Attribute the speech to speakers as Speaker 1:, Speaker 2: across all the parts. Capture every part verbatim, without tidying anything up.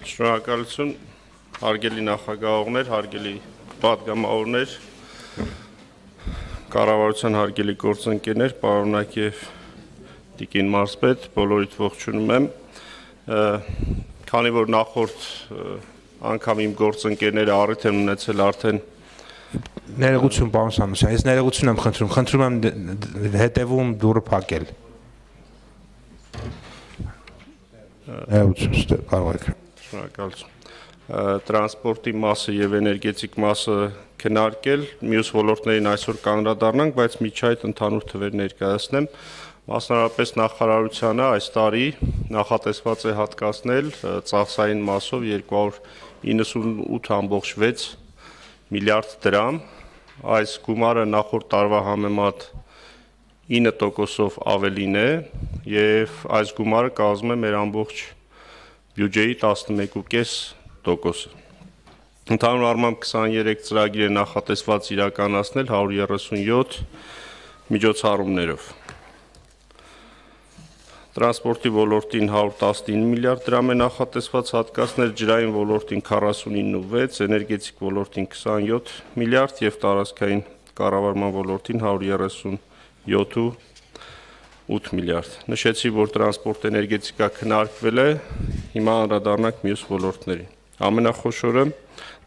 Speaker 1: Շնորհակալություն, հարգելի նախագահողներ, հարգելի պատգամավորներ, կառավարության հարգելի գործընկերներ, պարոնակ եւ տիկին մարզպետ, բոլորիդ ողջունում եմ։ Քանի որ նախորդ անգամ իմ գործընկերները առիթ են ունեցել արդեն
Speaker 2: Ներողություն, պարոն Սամոսյան, ես ներողություն եմ խնդրում, խնդրում եմ հետևում դուռը փակել։ Ներողություն, կարող եք։
Speaker 1: Շնորհակալություն։ Տրանսպորտի մասը եւ էներգետիկ մասը քննարկել, մյուս ոլորտներին այսօր կանդրադառնանք, բայց միջի այդ ընդհանուր թվեր ներկայացնեմ։ Մասնավորապես նախարարությանը այս տարի նախատեսված է հատկացնել ծախսային մասով երկու հարյուր իննսունութ ամբողջ վեց միլիարդ դրամ, այս գումարը նախորդ տարվա համեմատ ինը տոկոսով ավելին է եւ այս գումարը կազմում է մեր ամբողջ բյուջեի տասնմեկ կόμμα պենս տոկոսը։ Ընդհանուր առմամբ քսաներեք ծրագիր է նախատեսված իրականացնել հարյուր երեսունյոթ միջոցառումներով։ Տրանսպորտի ոլորտին հարյուր տասնինը միլիարդ դրամ է նախատեսված հատկացնել, ջրային ոլորտին քառասունինը վեց, էներգետիկ ոլորտին քսանյոթ միլիարդ եւ տարածքային կառավարման ոլորտին հարյուր երեսունյոթ ութ միլիարդ։ Նշեցի, որ տրանսպորտ էներգետիկա քննարկվել է, հիմա անդրադառնանք մյուս ոլորտներին։ Ամենախոշորը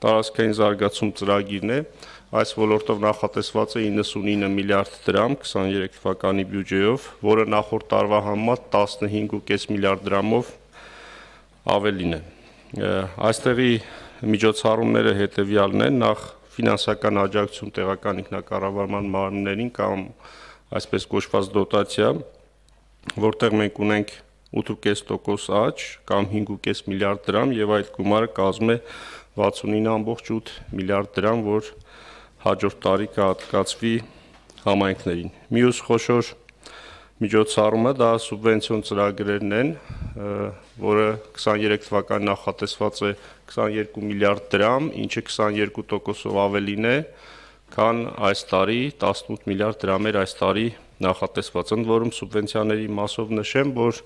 Speaker 1: տարածքային զարգացում ծրագիրն է, այս ոլորտով նախատեսված է իննսունինը միլիարդ դրամ քսաներեք թվականի բյուջեով, որը նախորդ տարվա համեմատ տասնհինգ կόμma պենս միլիարդ դրամով ավելին է։ Այստեղի միջոցառումները հետևյալն են, նախ ֆինանսական աջակցություն տեղական ինքնակառավարման մարմիններին կամ այսպես կոչված դոտացիա, որտեղ մենք ունենք ութ կόμma պենս տոկոս աճ կամ հինգ կόμma պենս միլիարդ դրամ եւ այդ գումարը կազմում է վաթսունինը ամբողջ ութ միլիարդ դրամ, որ հաջորդ տարի կհատկացվի համայնքներին։ Մյուս խոշոր միջոցառումը դա սուբվենցիոն ծրագրերն են, որը քսաներեք թվականին նախատեսված է քսաներկու միլիարդ դրամ, ինչը քսաներկու տոկոսով ավելին է, քան այս տարի տասնութ միլիարդ դրամ էր այս տարի նախատեսված։ Ընդ որում սուբվենցիաների մասով նշեմ, որ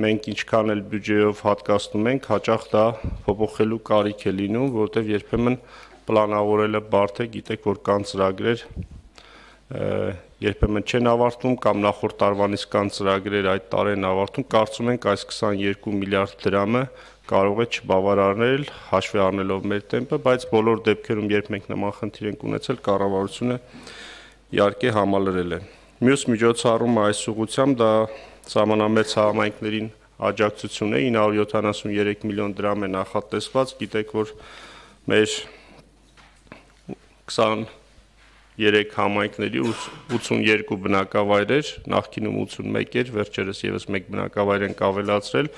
Speaker 1: մենք ինչքան էլ բյուջեով հատկացնում ենք, հաճախ դա փոփոխելու կարիք է լինում, որտեղ երբեմն պլանավորելը բարդ է, գիտեք, որ կան ծրագրեր, երբեմն չեն ավարտվում կամ նախորդ տարվանից կան ծրագրեր այդ տարին ավարտում, կարծում ենք այս քսաներկու միլիարդ դրամը կարող է չբավարարել, հաշվի առնելով մեր տեմպը, բայց բոլոր դեպքերում, երբ մենք նման խնդիր ենք ունեցել, կառավարությունը իհարկե համալրել է։ Մյուս միջոցառումը այս ուղղությամբ դա սահմանամերձ համայնքներին աջակցություն է, ինը հարյուր յոթանասունյոթ միլիոն դրամ է նախատեսված, գիտեք, որ մեր քսաներեք համայնքների ութսունյոթ բնակավայրեր, նախկինում ութսունմեկ էր, վերջերս եւս մեկ բնակավայր ենք ավելացրել,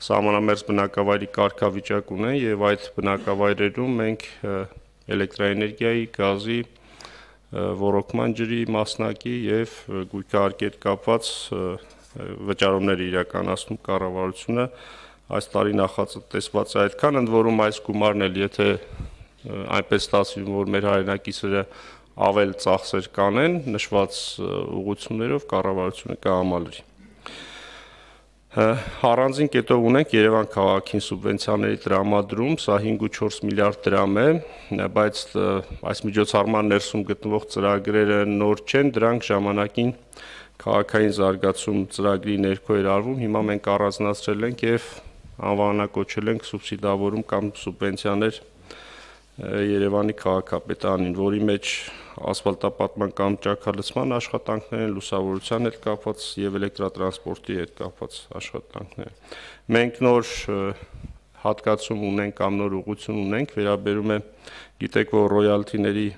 Speaker 1: սահմանամերձ բնակավայրի կարգավիճակ ունեն եւ այդ բնակավայրերում մենք էլեկտրաէներգիայի, գազի, ոռոգման ջրի մասնակի եւ գույքահարկի հետ կապված վճարումներ իրականացնում կառավարությունը, այս տարի նախատեսված է այդքան, ընդ որում այս գումարն էլ եթե այնպես ստացվի, որ մեր հայրենակիցները ավել ծախսեր կանեն, նշված ուղղություններով կառավարությունը կհամալրի։ Առանձին կետով ունենք Երևան քաղաքին սուբվենցիաների տրամադրում, սա հինգ կόμma չորս միլիարդ դրամ է, բայց այս միջոցառման ներսում գտնվող ծրագրերը նոր չեն, դրանք ժամանակին քաղաքային զարգացում ծրագրի ներքո էր արվում, հիմա մենք առանձնացրել ենք եւ անվանակոչել ենք սուբսիդավորում կամ սուբվենցիաներ Երևանի քաղաքապետարանին, որի մեջ ասֆալտապատման կամ ճաքալցման աշխատանքներ են, լուսավորության հետ կապված եւ էլեկտրատրանսպորտի հետ կապված աշխատանքներ։ Մենք նոր հատկացում ունենք կամ նոր ուղղություն ունենք, վերաբերում է, գիտեք, որ ռոյալթիների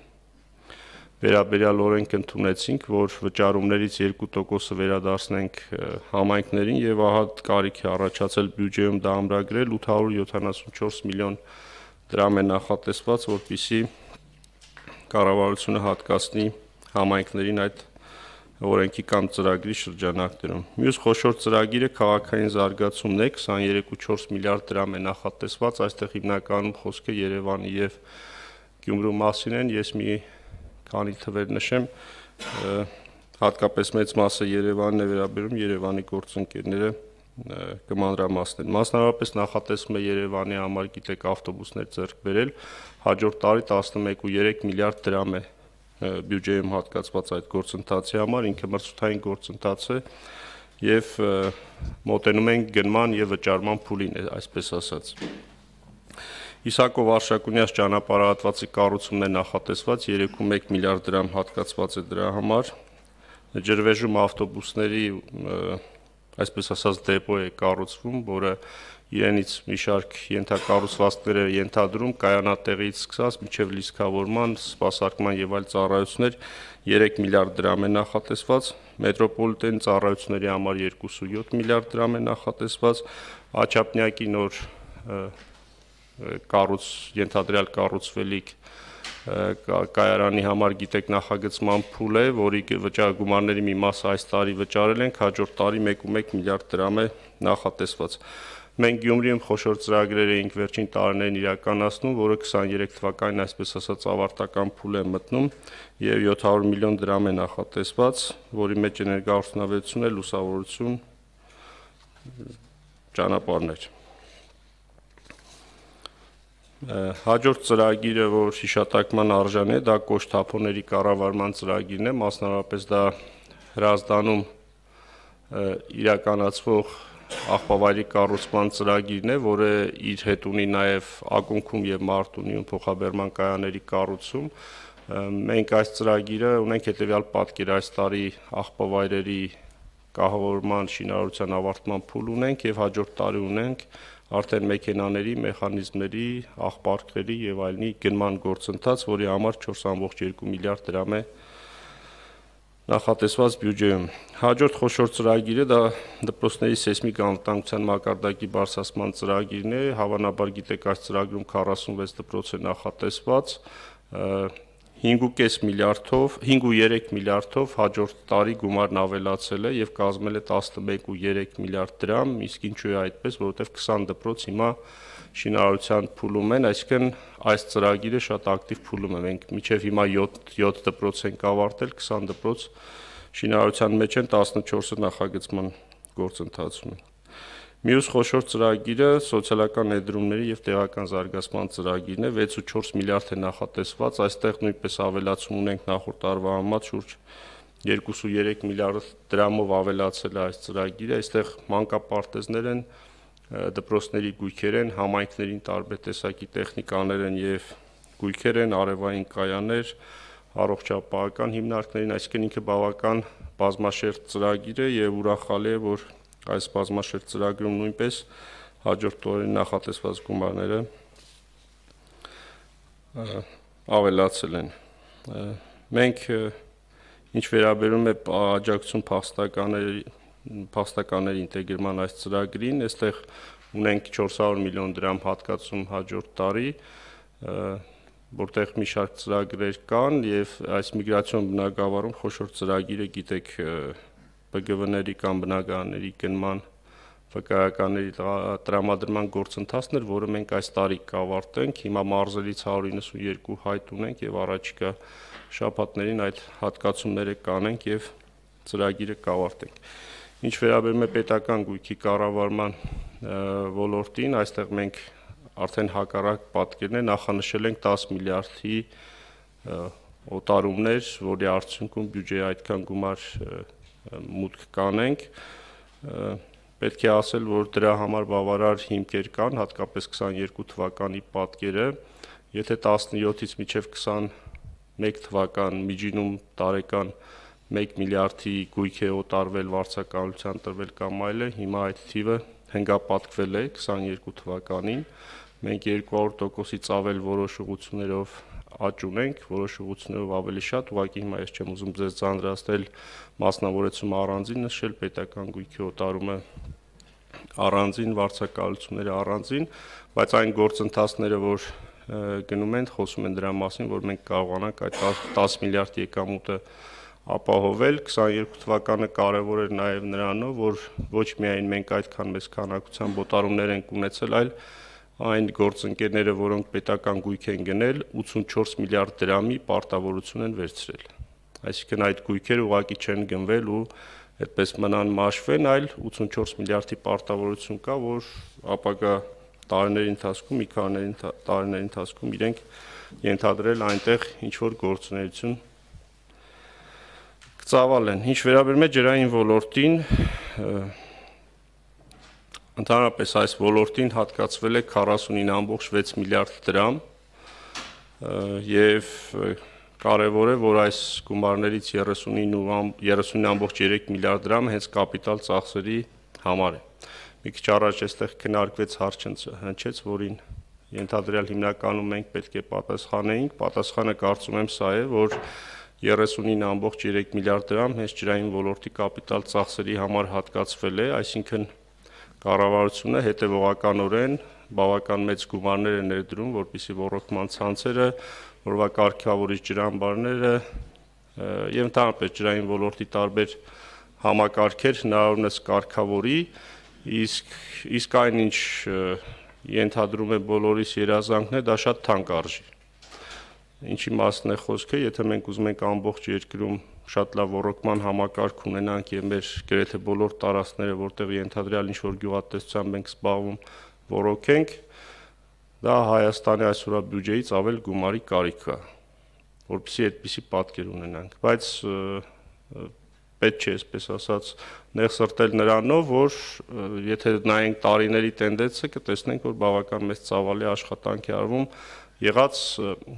Speaker 1: վերաբերյալ օրենք ընդունեցինք, որ վճարումներից երկու տոկոսը վերադարձնենք համայնքներին եւ ահա կարիք է առաջացել բյուջեում դա ամրագրել ութ հարյուր յոթանասունչորս միլիոն դրամ է նախատեսված, որպեսզի կառավարությունը հատկացնի համայնքներին այդ օրենքի կամ ծրագրի շրջանակներում։ Մյուս խոշոր ծրագիրը քաղաքային զարգացումն է, քսաներեք կόμma չորս միլիարդ դրամ է նախատեսված, այստեղ հիմնականում խոսքը Երևանի եւ Գյումրու մասին են, ես մի քանի թվեր նշեմ, հատկապես մեծ մասը Երևանն է վերաբերում, Երևանի գործընկերները կմանրամասնել։ Մասնավորապես նախատեսվում է Երևանի համար գիտեք ավտոբուսներ ձեռք բերել, հաջորդ տարի տասնմեկ կόμma երեք միլիարդ դրամ է բյուջեում հատկացված այդ գործընթացի համար, ինքը մրցութային գործընթաց է եւ մոտենում ենք գնման եւ վճարման փուլին, այսպես ասած։ Իսակով Արշակունյաց ճանապարհահատվածի կառուցումն է նախատեսված երեք կόμma մեկ միլիարդ դրամ հատկացված է դրա համար։ Ջրվեժում ավտոբուսների այսպես ասած դեպո է կառուցվում, որը իրենից մի շարք ենթակառուցվածքներ է ենթադրում կայանատեղից սկսած մինչև լիցքավորման, սպասարկման եւ այլ ծառայություններ երեք միլիարդ դրամ է նախատեսված, մետրոպոլիտեն ծառայությունների համար երկու կόμma յոթ միլիարդ դրամ է նախատեսված, Աչափնյակի նոր կառույց ենթադրյալ կառուցվելիք կայարանի համար գիտեք նախագծման փուլ է, որի վճարագումարների մի մասը այս տարի վճարել ենք, հաջորդ տարի մեկ կόμma մեկ միլիարդ դրամ է նախատեսված։ Մենք Գյումրիում խոշոր ծրագրեր էինք վերջին տարիներին իրականացնում, որը քսաներեք թվականին այսպես ասած ավարտական փուլ է մտնում եւ յոթ հարյուր միլիոն դրամ է նախատեսված, որի մեջ էներգոարդյունավետություն է, լուսավորություն, ճանապարհներ։ Հաջորդ ծրագիրը, որ հիշատակման արժան է, դա կոշտ-թափոնների կառավարման ծրագիրն է, մասնավորապես դա Հրազդանում իրականացվող աղբավայրի կառուցման ծրագիրն է, որը իր հետ ունի նաև ակունքում եւ Մարտունիում փոխաբերման կայանների կառուցում։ Մենք այս ծրագիրը ունենք հետեւյալ պատկեր, այս տարի աղբավայրերի կահավորման շինարարության ավարտման փուլ ունենք եւ հաջորդ տարի ունենք արդեն մեքենաների, մեխանիզմների, աղբարկների եւ այլնի գնման գործընթաց, որի համար չորս կόμma երկու միլիարդ դրամ է նախատեսված բյուջեում։ Հաջորդ խոշոր ծրագիրը դա դպրոցների սեյսմիկ անվտանգության մակարդակի բարձրացման ծրագիրն է, հավանաբար գիտեք այս ծրագրում քառասունվեց դպրոց է նախատեսված, հինգ կόμma պենս միլիարդով, հինգ կόμma երեք միլիարդով հաջորդ տարի գումարն ավելացել է եւ կազմել է տասնմեկ կόμma երեք միլիարդ դրամ, իսկ ինչու է այդպես, որովհետեւ քսան դպրոց հիմա շինարարության փուլում են, այսինքն այս ծրագիրը շատ ակտիվ փուլում է։ Մենք մինչև հիմա յոթ դպրոց ենք ավարտել, քսան դպրոց շինարարության մեջ են, տասնչորսը նախագծման գործընթացում են։ Մյուս խոշոր ծրագիրը սոցիալական ներդրումների եւ տեղական զարգացման ծրագիրն է, վեց կόμma չորս միլիարդ է նախատեսված, այստեղ նույնպես ավելացում ունենք նախորդ տարվա համեմատ շուրջ երկու կόμma երեք միլիարդ դրամով ավելացել է այս ծրագիրը, այստեղ մանկապարտեզներ են, դպրոցների գույքեր են, համայնքներին տարբեր տեսակի տեխնիկաներ են եւ գույքեր են, արևային կայաններ, առողջապահական հիմնարկներին, այսինքն ինքը բավական բազմաշերտ ծրագիր է եւ ուրախալի է, որ այս բազմաշերտ ծրագրում նույնպես հաջորդ օրերին նախատեսված գումարները ավելացել են։ Մենք ինչ վերաբերում է աջակցություն փախստականների փախստականների ինտեգրման այս ծրագրին, այստեղ ունենք չորս հարյուր միլիոն դրամ հատկացում հաջորդ տարի, որտեղ մի շարք ծրագրեր կան եւ այս միգրացիոն բնակավարում խոշոր ծրագիրը գիտեք Բ Գ V-ների կամ բնակարանների գնման վկայականների տրամադրման գործընթացն էր, որը մենք այս տարի կավարտենք, հիմա մարզերից հարյուր իննսունյերկու հայտ ունենք եւ առաջիկա շաբաթներին այդ հատկացումները կանենք եւ ծրագիրը կավարտենք։ Ինչ վերաբերում է պետական գույքի կառավարման ոլորտին, այստեղ մենք արդեն հակառակ պատկերն է, նախանշել ենք տասը միլիարդի օտարումներ, որի արդյունքում բյուջեի այդքան գումար մուտք կանենք, պետք է ասել, որ դրա համար բավարար հիմքեր կան, հատկապես քսաներկու թվականի պատկերը, եթե տասնյոթից մինչև քսանմեկ թվական միջինում տարեկան մեկ միլիարդի գույք է օտարվել, վարձակալության տրվել կամ այլը, հիմա այդ թիվը հնգապատկվել է քսաներկու թվականին, մենք երկու հարյուր տոկոսից ավել որոշ ուղղություններով աճ ունենք, որոշ ուղղություններով ավելի շատ, ուղղակի հիմա ես չեմ ուզում ձեզ ձանձրացնել մասնավորեցումը առանձին նշել, պետական գույքի օտարումը առանձին, վարձակալությունները առանձին, բայց այն գործընթացները, որ գնում են, խոսում են դրա մասին, որ մենք կարողանանք այդ տասը միլիարդ եկամուտը ապահովել, քսաներկու թվականը կարևոր էր նաև նրանով, որ ոչ միայն մենք այդքան մեծ քանակությամբ օտարումներ ենք ունեցել, այլ այն գործընկերները, որոնք պետական գույք են գնել, ութսունչորս միլիարդ դրամի պարտավորություն են վերցրել։ Այսինքն այդ գույքերը ուղղակի չեն գնվել ու այդպես մնան մաշվեն, այլ ութսունչորս միլիարդի պարտավորություն կա, որ ապագա տարիների ընթացքում, մի քանի տարիների ընթացքում իրենք ենթադրել այնտեղ ինչ-որ գործունեություն կծավալեն։ Ինչ վերաբերում է ջրային ոլորտին, ընդհանրապես այս ոլորտին հատկացվել է քառասունինը կόμμα վեց միլիարդ դրամ եւ կարևոր է, որ այս գումարներից երեսունինը կόμμα երեք միլիարդ դրամ հենց կապիտալ ծախսերի համար է։ Մի քիչ առաջ այստեղ քննարկվեց հարց հնչեց, որին ենթադրյալ հիմնականում մենք պետք է պատասխանեինք, պատասխանը կարծում եմ սա է, որ երեսունինը կόμμα երեք միլիարդ դրամ հենց ջրային ոլորտի կապիտալ ծախսերի համար հատկացվել է, այսինքն կառավարությունը հետևողականորեն բավական մեծ գումարներ է ներդրում, որպեսզի ոռոգման ցանցերը, որվա կարգավորիչ ջրամբարները եւ ընդհանրապես ջրային ոլորտի տարբեր համակարգեր հնարավորինս կարգավորի, իսկ իսկ այնինչ ենթադրում է բոլորիս երազանքն է, դա շատ թանկ արժի։ Ինչի մասն է խոսքը, եթե մենք ուզում ենք ամբողջ երկրում շատ լավ ոռոգման համակարգ ունենանք եւ մեր գրեթե բոլոր տարածքները, որտեղ ենթադրյալ ինչ-որ գյուղատնտեսությամբ ենք զբաղվում, ոռոգենք, դա Հայաստանի այսօրվա բյուջեից ավել գումարի կարիք կա, որպեսզի այդպիսի պատկեր ունենանք, բայց պետք չէ, այսպես ասած, նեղ սրտել նրանով, որ եթե նայենք տարիների տենդենսը, կտեսնենք, որ բավական մեծ ծավալի աշխատանք է արվում եղած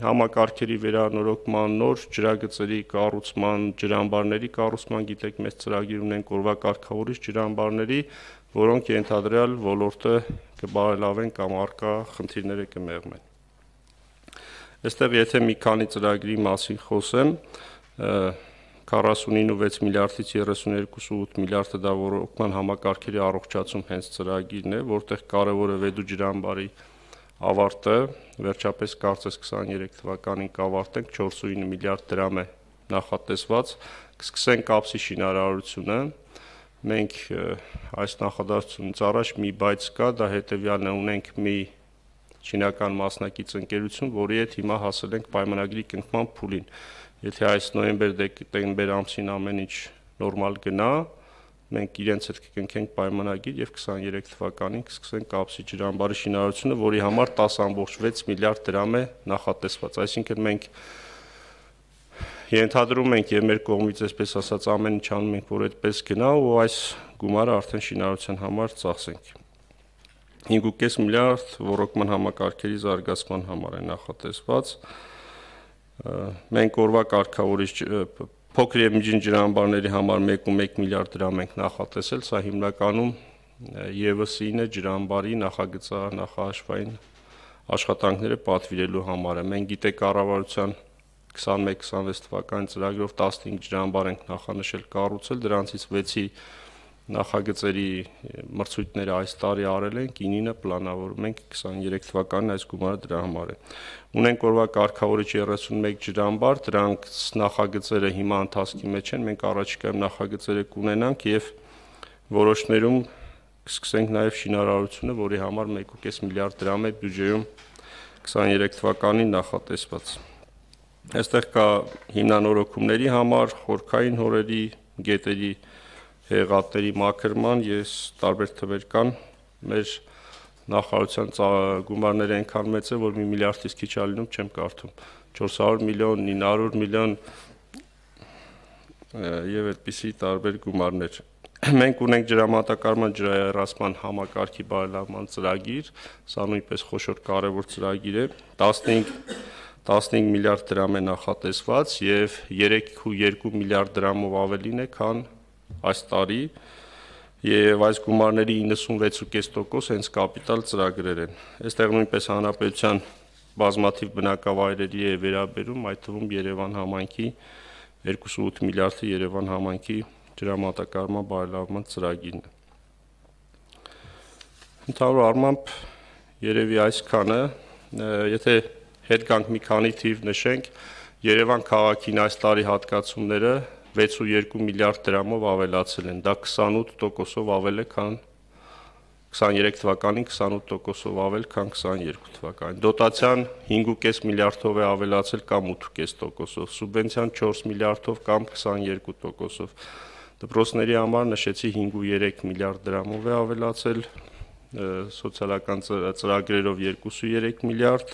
Speaker 1: համակարգերի վերանորոգման, նոր ջրագծերի կառուցման, ջրամբարների կառուցման, գիտեք, մեծ ծրագիր ունենք օրվա կարգավորիչ ջրամբարների, որոնք ենթադրյալ ոլորտը կբարելավեն կամ առկա խնդիրները կմեղմեն։ Այստեղ եթե մի քանի ծրագրի մասին խոսեմ, քառասունինը վեց միլիարդից երեսուներկու կόμμα ութ միլիարդը դա ոռոգման համակարգերի առողջացում հենց ծրագիրն է, որտեղ կարևոր է Վեդու ջրամբարի ավարտը, վերջապես կարծես քսաներեք թվականին կավարտենք, չորսունինը միլիարդ դրամ է նախատեսված, կսկսենք կապսի շինարարությունը, մենք այս նախադասությունից առաջ մի բայց կա, դա հետևյալն է, ունենք մի չինական մասնակից ընկերություն, որի հետ հիմա հասել ենք պայմանագրի կնքման փուլին, եթե այս նոյեմբեր-դեկտեմբեր ամսին ամեն ինչ նորմալ գնա, մենք իրենց հետ կկնքենք պայմանագիր եւ քսաներեք թվականին կսկսենք կապսի ջրամբարի շինարարությունը, որի համար տասը կόμμα վեց միլիարդ դրամ է նախատեսված, այսինքն մենք ենթադրում ենք եւ մեր կողմից այսպես ասած ամեն ինչ անում ենք, որ այդպես գնա ու այս գումարը արդեն շինարարության համար ծախսենք։ հինգ կόμμα պենս միլիարդ ոռոգման համակարգերի զարգացման համար է նախատեսված։ Մենք օրվա կարգավորիչ փոքր եւ միջին ջրամբարների համար մեկ կόμma մեկ միլիարդ դրամ ենք նախատեսել, սա հիմնականում եւս ինը ջրամբարի նախագծա-նախահաշվային աշխատանքները պատվիրելու համար է։ Մենք գիտեք կառավարության քսանմեկ քսանվեց թվականի ծրագրով տասնհինգ ջրամբար ենք նախանշել կառուցել, դրանցից վեցի նախագծերի մրցույթները այս տարի արել ենք, ինինը պլանավորում ենք քսաներեք թվականին այս գումարը դրա համար է։ Ունենք օրվա կարգավորիչ երեսունմեկ ջրամբար, դրանք նախագծերը հիմա ընթացքի մեջ են, մենք առաջիկայում նախագծերը կունենանք եւ որոշներում կսկսենք նաեւ շինարարությունը, որի համար մեկ կόμma պենս միլիարդ դրամ է բյուջեում քսաներեք թվականին նախատեսված։ Այստեղ կա հիմնանորոգումների համար, խորքային հորերի, գետերի հեղատների մաքրման, ես տարբեր թվեր կան, մեր նախարարության գումարները այնքան մեծ է, որ մի միլիարդից քիչ է լինում, չեմ կարդում, չորս հարյուր միլիոն, ինը հարյուր միլիոն եւ այդպիսի տարբեր գումարներ։ Մենք ունենք ջրամատակարարման ջրահեռացման համակարգի բարելավման ծրագիր, սա նույնպես խոշոր կարևոր ծրագիր է, տասնհինգ միլիարդ դրամ է նախատեսված եւ երեք կόμma երկու միլիարդ դրամով ավելին է, քան այս տարի եւ այս գումարների իննսունվեց կόμma պենս տոկոս հենց կապիտալ ծրագրեր են։ Այստեղ նույնպես հանրապետության բազմաթիվ բնակավայրերի է վերաբերում, այդ թվում Երևան համայնքի երկու կόμma ութ միլիարդը Երևան համայնքի ջրամատակարարման բարելավման ծրագիրն է։ Ընդհանուր առմամբ երևի այսքանը, եթե հետ գանք մի քանի թիվ նշենք, Երևան քաղաքին այս տարի հատկացումները վեց կόμma երկու միլիարդ դրամով ավելացել են, դա քսանութ տոկոսով ավել է, քան քսաներեք թվականին քսանութ տոկոսով ավել, քան քսաներկու թվականին։ Դոտացիան հինգ կόμma պենս միլիարդով է ավելացել կամ ութ կόμma պենս տոկոսով, սուբվենցիան չորս միլիարդով կամ քսաներկու տոկոսով։ Դպրոցների համար նշեցի հինգ ու երեք միլիարդ դրամով է ավելացել, սոցիալական ծրագրերով երկու ու երեք միլիարդ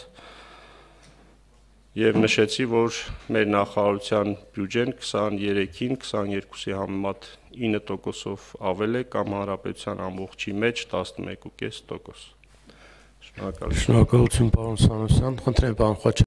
Speaker 1: եւ նշեցի, որ մեր նախարարության բյուջեն քսաներեքին քսաներկուսի համեմատ ինը տոկոսով ավել է կամ հանրապետության ամբողջի մեջ տասնմեկ ու կես տոկոս։ Շնորհակալություն։
Speaker 3: Շնորհակալություն, պարոն Սանոսյան, խնդրեմ պարոն Խաչատրյան